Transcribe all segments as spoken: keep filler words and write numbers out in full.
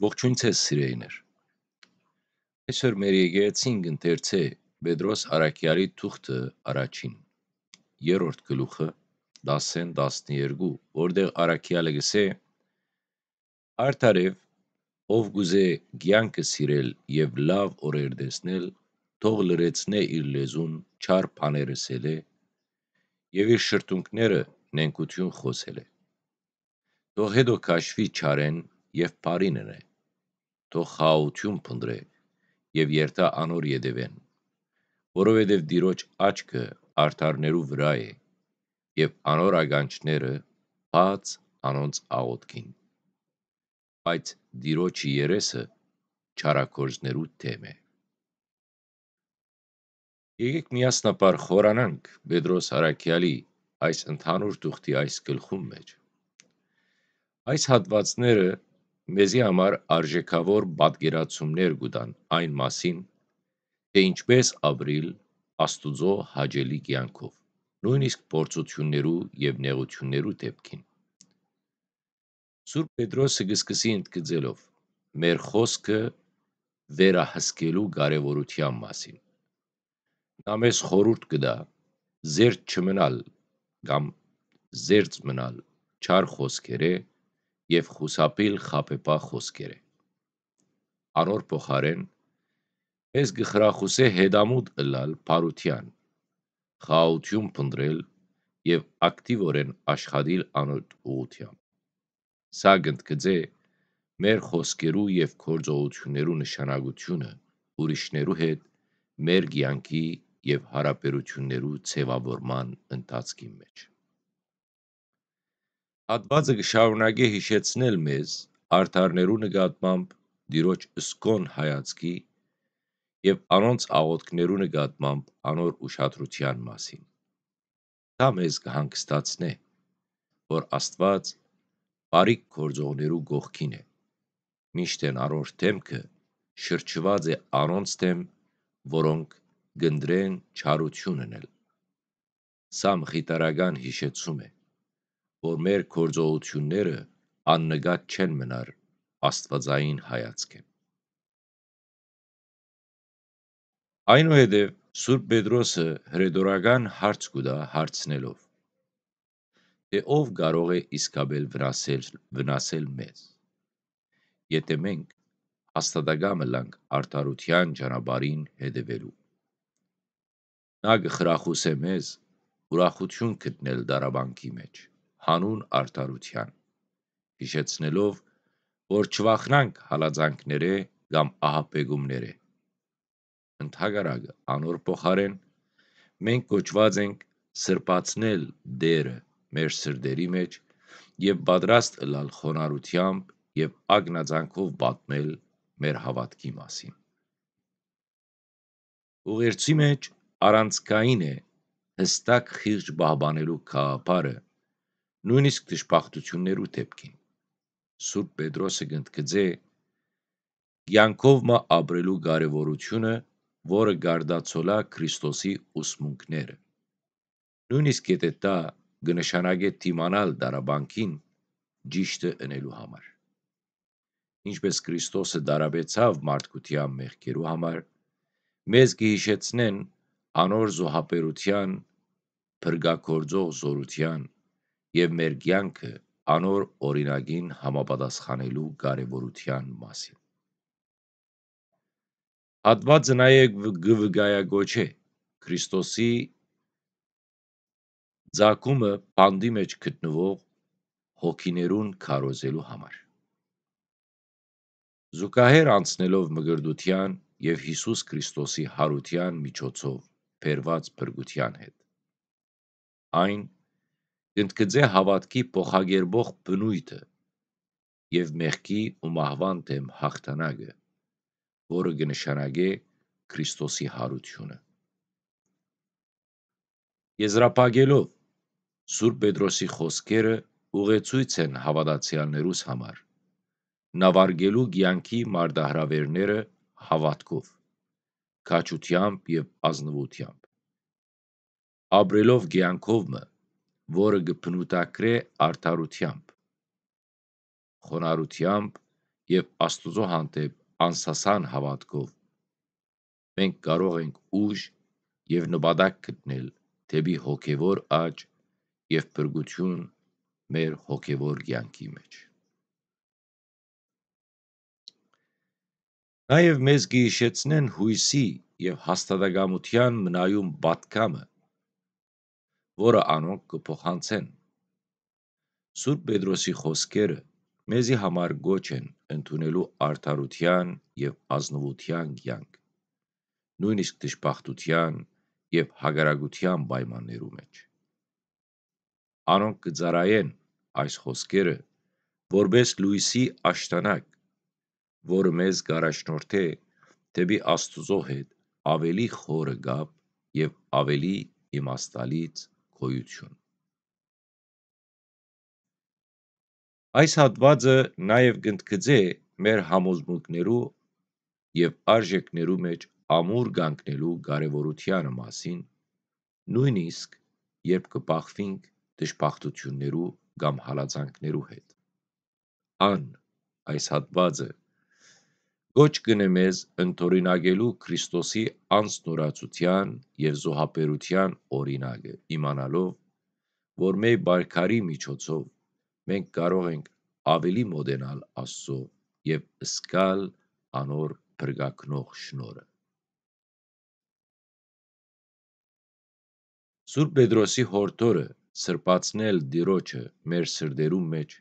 Ողջույն ձեզ, սիրելիներ։ Այսօր մեր եկեղեցին կ'ընթերցէ Պետրոս Առաքեալի թուղթը առաջին, երրորդ գլուխը, տասեն, տասներկու, որտեղ Առաքեալը կ'ըսէ. «Արդարեւ, ով կ'ուզէ կեանքը սիրել եւ լաւ օրեր տեսնել, թող լրացնէ իր լեզուն չար բաներ ըսելէ եւ իր շրթունքները նենգութիւն խօսելէ։ Թող հետո քաշուի չարէն եւ բարին ընէ, թող խաղաղութիւն փնտռէ եւ երթայ անոր ետեւէն, որովհետեւ Տիրոջ աչքը արդարներու վրայ է եւ անոր ականջները բաց անոնց աղօթքին։ Բայց Տիրոջը երեսը չարագործներու դէմ է»։ Եկէք միասնաբար խորանանք Պետրոս Առաքեալի այս ընդհանուր թուղթի այս գլխուն մէջ։ Այս հատուածները մեզի համար արժեքաւոր պատկերացումներ կու տան այն մասին, թէ ինչպէս ապրիլ Աստուծոյ հաճելի կեանքով, նոյնիսկ փորձութիւններու եւ նեղութիւններու դէպքին։ Սուրբ Պետրոսը կը սկսի ընդգծելով մեր խօսքը վերահսկելու կարեւորութեան մասին։ Նա մեզ խորհուրդ կը տայ զերծ չմնալ կամ զերծ մնալ չար խօսքերէ եւ խուսափիլ խաբեբայ խօսքերէ։ Անոր փոխարէն մեզ կը խրախուսէ հետամուտ ըլլալ բարութեան, խաղաղութիւն փնտռել եւ ակտիվօրէն աշխատիլ անոր ուղղութեամբ։ Սա կ'ընդգծէ մեր խօսքերու եւ գործողութիւններու նշանակութիւնը ուրիշներու հետ մեր կեանքի եւ յարաբերութիւններու ձեւաւորման ընթացքին մէջ։ Հատուածը կը շարունակէ յիշեցնել մեզ արդարներու նկատմամբ Տիրոջ սկոն հայացքի եւ անոնց աղօթքներու նկատմամբ անոր ուշադրութեան մասին։ Դա մեզ կը հանգստացնէ, որ Աստուած բարիք գործողներու կողքին է, մինչդեռ անոր դէմքը շրջուած է անոնց դէմ, որոնք կ'ընտրեն չարութիւն ընել։ Սա մխիթարական յիշեցում է, որ մեր գործողութիւնները աննկատ չեն մնար աստուածային հայացքէն։ Այնուհետեւ Սուրբ Պետրոսը հրետորական հարց կու տայ հարցնելով. «Թէ ով կարող է իսկապէս վնասել, վնասել մեզ, եթէ մենք հաստատակամ ըլլանք արդարութեան ճանապարհին հետեւելու»։ Նա կը խրախուսէ մեզ ուրախութիւն գտնել տառապանքի մէջ, յանուն արդարութեան, յիշեցնելով, որ չվախնանք հալածանքներէ կամ ահաբեկումներէ։ Ընդհակառակը, անոր փոխարէն, մենք կոչուած ենք սրբացնել Տէրը մեր սրտերի մէջ եւ պատրաստ ըլլալ խոնարհութեամբ եւ ակնածանքով պատմել մեր հաւատքի մասին։ Ուղերձի մէջ առանցքային է յստակ խիղճ պահպանելու գաղափարը, նոյնիսկ դժբախտութիւններու դէպքին։ Սուրբ Պետրոսը կ'ընդգծէ կեանքով մը ապրելու կարեւորութիւնը, որը կ'արտացոլայ Քրիստոսի ուսմունքները, նոյնիսկ եթէ դա կը նշանակէ դիմանալ տառապանքին ճիշդը ընելու համար։ Ինչպէս Քրիստոսը տառապեցաւ մարդկութեան մեղքերու համար, մեզ կը յիշեցնեն անոր զոհաբերութեան, փրկագործող զօրութեան եւ մեր կեանքը անոր օրինակին համապատասխանելու կարեւորութեան մասին։ Հատուածը նաեւ կը վկայակոչէ Քրիստոսի ծագումը բանտի մէջ գտնուող հոգիներուն քարոզելու համար։ Զուգահեռ անցնելով մկրտութեան եւ Յիսուս Քրիստոսի յարութեան միջոցով բերուած փրկութեան հետ, այն կ'ընդգծէ հաւատքի փոխակերպող բնոյթը եւ մեղքի ու մահուան դէմ յաղթանակը, որը կը նշանակէ Քրիստոսի յարութիւնը։ Եզրափակելով Սուրբ Պետրոսի խօսքերը, ուղեցոյց են հաւատացեալներուս համար, նավարկելու կեանքի մարտահրաւէրները հաւատքով, քաջութեամբ եւ ազնուութեամբ, ապրելով կեանքով մը, որը կը բնութագրէ արդարութեամբ, խոնարհութեամբ եւ Աստուծոյ հանդէպ անսասան հաւատքով, մենք կարող ենք ուժ եւ նպատակ գտնել դէպի հոգեւոր աճ եւ փրկութիւն մեր հոգեւոր կեանքի մէջ։ Նաեւ մեզ կը յիշեցնեն յոյսի եւ հաստատակամութեան մնայուն պատգամը, որը անոնք կը փոխանցեն։ Սուրբ Պետրոսի խօսքերը մեզի համար կոչ են ընդունելու արդարութեան եւ ազնուութեան կեանք, նոյնիսկ դժբախտութեան եւ հակառակութեան պայմաններու մէջ։ Անոնք կը ծառայեն այս խօսքերը որպէս լոյսի աշտանակ, որը մեզ կ'առաջնորդէ դէպի Աստուծոյ հետ աւելի խորը կապ եւ աւելի իմաստալից գոյութիւն։ Այս հատուածը նաեւ կ'ընդգծէ մեր համոզմունքներու եւ արժեքներու մէջ ամուր կանգնելու կարեւորութեանը մասին, նոյնիսկ երբ կը բախուինք դժբախտութիւններու կամ հալածանքներու հետ։ Ան, այս հատուածը, կոչ կ'ընէ մեզ ընդօրինակելու Քրիստոսի անձնուրացութեան եւ զոհաբերութեան օրինակը, իմանալով, որ մեր պայքարի միջոցով մենք կարող ենք աւելի մօտենալ Աստուծոյ եւ զգալ անոր փրկագնող շնորհը։ Սուրբ Պետրոսի յորդորը սրբացնել Տիրոջը մեր սրտերուն մէջ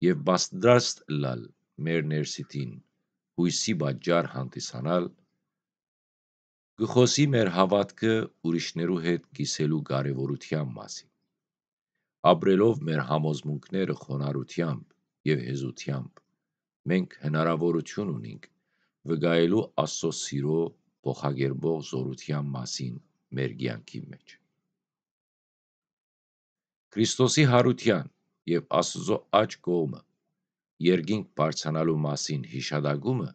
եւ պատրաստ ըլլալ մեր ներսիդին յոյսի պատճառ հանդիսանալ, կը խօսի մեր հաւատքը ուրիշներու հետ կիսելու կարեւորութեան մասին։ Ապրելով մեր համոզմունքները խոնարհութեամբ եւ հեզութեամբ, մենք հնարաւորութիւն ունինք վկայելու Աստուծոյ սիրոյ փոխակերպող զօրութեան մասին մեր կեանքի մէջ։ Քրիստոսի յարութեան եւ Աստուծոյ աջ կողմը երկինք բարձրանալու մասին յիշատակումը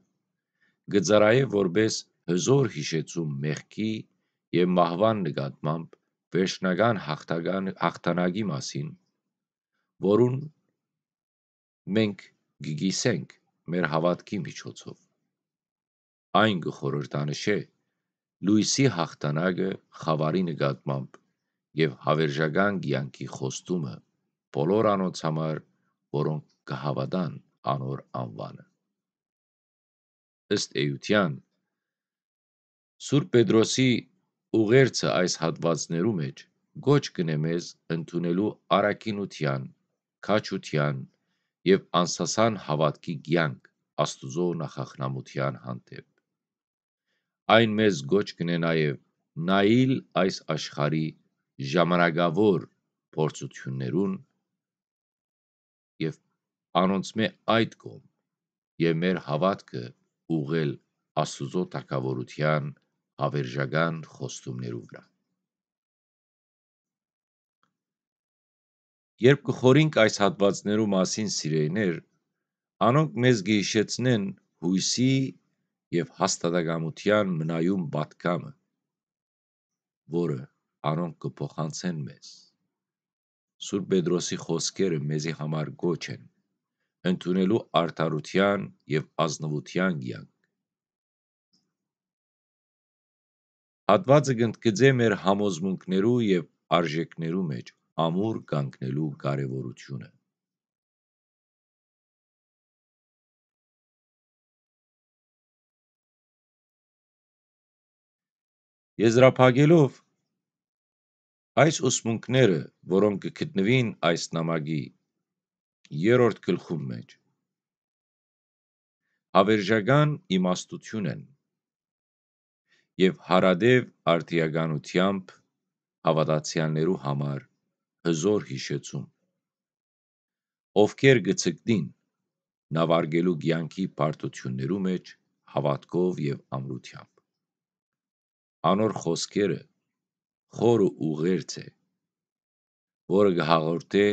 կը ծառայէ որպէս հզօր յիշեցում մեղքի եւ մահուան նկատմամբ վերջնական յաղթական, յաղթանակի մասին, որուն մենք կը կիսենք մեր հաւատքի միջոցով։ Այն կը խորհրդանշէ լոյսի յաղթանակը խաւարի նկատմամբ եւ յաւերժական կեանքի խոստումը բոլոր անոնց համար, որոնք կը հաւատան անոր անուանը։ Ըստ էութեան, Սուրբ Պետրոսի ուղերձը այս հատուածներու մէջ կոչ կ'ընէ մեզ ընդունելու առաքինութեան, քաջութեան եւ անսասան հաւատքի կեանք Աստուծոյ նախախնամութեան հանդէպ։ Այն մեզ կոչ կ'ընէ նաեւ նայիլ այս աշխարհի ժամանակաւոր փորձութիւններուն եւ անոնցմէ այդ կողմ եւ մեր հաւատքը ուղղել Աստուծոյ թագաւորութեան յաւերժական խոստումներու վրայ։ Երբ կը խորհենք այս հատուածներու մասին, սիրելիներ, անոնք մեզ կը յիշեցնեն յոյսի եւ հաստատակամութեան մնայուն պատգամը, որը անոնք կը փոխանցեն մեզ։ Սուրբ Պետրոսի խօսքերը մեզի համար կոչ են ընդունելու արդարութեան եւ ազնուութեան կեանք։ Հատուածը կ'ընդգծէ մեր համոզմունքներու եւ արժեքներու մէջ ամուր կանգնելու կարեւորութիւնը։ Եզրափակելով այս ուսմունքները, որոնք կը գտնուին այս նամակի երրորդ գլխուն մէջ, յաւերժական իմաստութիւն են եւ յարատեւ արդիականութեամբ հաւատացեալներու համար հզօր յիշեցում, ովքեր կը ձգտին նավարկելու կեանքի բարդութիւններու մէջ հաւատքով եւ ամրութեամբ։ Անոր խօսքերը խորը ուղերձ է, որը կը հաղորդէ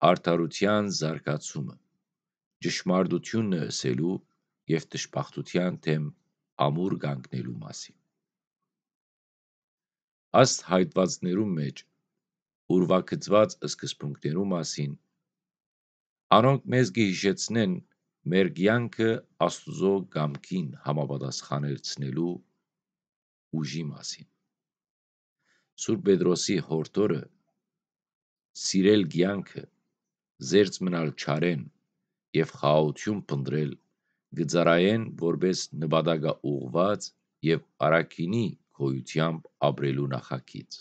արդարութեան զարգացումը, ճշմարտութիւնը ըսելու եւ դժբախտութեան դէմ ամուր կանգնելու մասին։ Աստ հայտվածներու մէջ ուրվագծուած սկզբունքներու մասին, անոնք մեզ կը յիշեցնեն մեր կեանքը Աստուծոյ կամքին համապատասխանեցնելու ուժի մասին։ Սուրբ Պետրոսի յորդորը սիրել կեանքը, զերծ մնալ չարէն եւ խաղաղութիւն փնտռել կը ծառայեն որպէս նպատակաուղղուած եւ առաքինի գոյութեամբ ապրելու նախագիծ։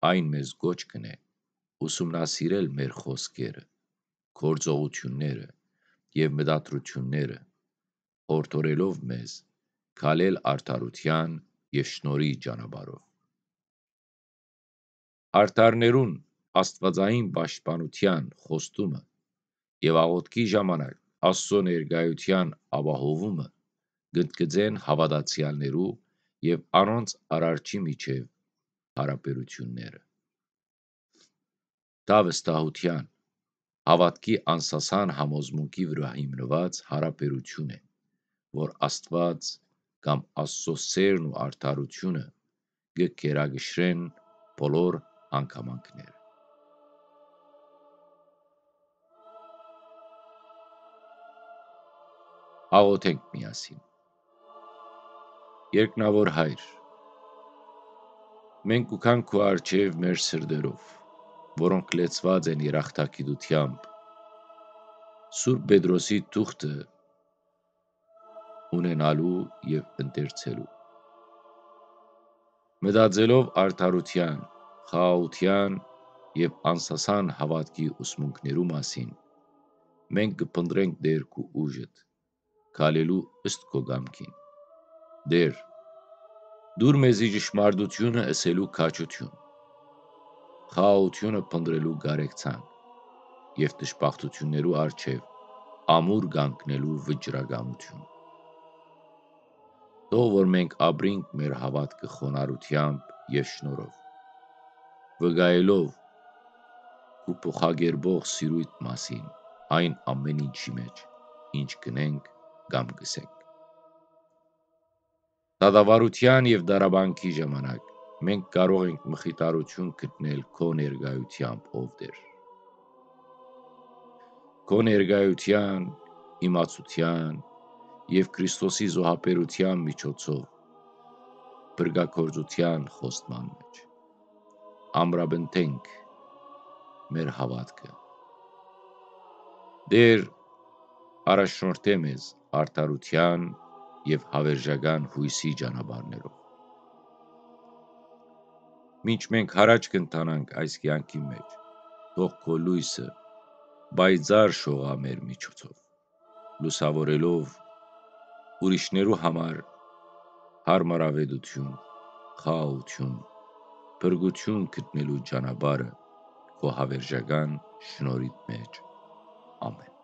Այն մեզ կոչ կ'ընէ ուսումնասիրել մեր խօսքերը, գործողութիւնները եւ մտադրութիւնները, յորդորելով մեզ քալել արդարութեան եւ շնորհի ճանապարհով։ Արդարներուն աստուածային պաշտպանութեան խոստումը եւ աղօթքի ժամանակ Աստուծոյ ներկայութեան ապահովումը կ'ընդգծեն հաւատացեալներու եւ անոնց Արարչի միջեւ յարաբերութիւնները։ Դա վստահութեան, հաւատքի անսասան համոզմունքի վրայ հիմնուած յարաբերութիւն է, որ Աստուած կամ Աստուծոյ սէրն ու արդարութիւնը կը գերակշռեն բոլոր հանգամանքները։ Աղօթենք միասին։ Երկնաւոր Հայր, մենք կու գանք քու առջեւ մեր սրտերով, որոնք լեցուած են երախտագիտութեամբ, Սուրբ Պետրոսի թուղթը ունենալու եւ ընթերցելու։ Մտածելով արդարութեան, խաղաղութեան եւ անսասան հաւատքի ուսմունքներու մասին, մենք կը փնտռենք Տէր քու ուժդ, քալելու ըստ քու կամքին։ Տէր, տուր մեզի ճշմարտութիւնը ըսելու քաջութիւն, խաղաղութիւնը փնտռելու կարեկցանք եւ դժբախտութիւններու առջեւ ամուր կանգնելու վճռականութիւն։ Թող որ մենք ապրինք մեր հաւատքը խոնարհութեամբ եւ շնորհով, վկայելով քու փոխակերպող սիրոյթ մասին այն ամէն ինչի մէջ, ինչ կ'ընենք կամ կ'ըսենք։ Դատավարութեան եւ դարաբանքի ժամանակ մենք կարող ենք մխիթարութիւն գտնել քու ներկայութեամբ, ով Տէր։ Քու ներկայութեան, իմացութեան եւ Քրիստոսի զոհաբերութեան միջոցով փրկագործութեան խոստման մէջ ամրապնդենք մեր հաւատքը։ Տէր, առաջնորդէ մեզ արդարութեան եւ հաւերժական յոյսի ճանապարհներով։ Մինչ մենք յառաջ կ'ընթանանք այս կեանքի մէջ, թող քու լոյսը պայծառ շողայ մեր միջոցով, լուսաւորելով ուրիշներու համար յարմարաւէտութիւն, խաղաղութիւն, փրկութիւն գտնելու ճանապարհը քու հաւերժական շնորհիդ մէջ։ Ամէն։